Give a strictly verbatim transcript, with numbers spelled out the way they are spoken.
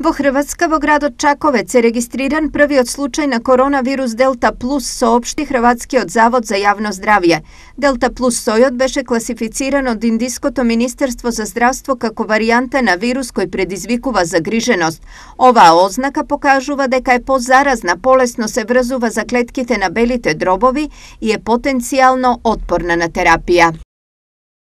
Во Хрватска, во градот Чаковец е регистриран првиот случај на коронавирус Делта Плюс, соопшти Хрватскиот завод за јавно здравје. Делта Плюс сојот беше класифициран од Индиското министерство за здравство како варијанта на вирус кој предизвикува загриженост. Оваа ознака покажува дека е позаразна, полесно се врзува за клетките на белите дробови и е потенцијално отпорна на терапија.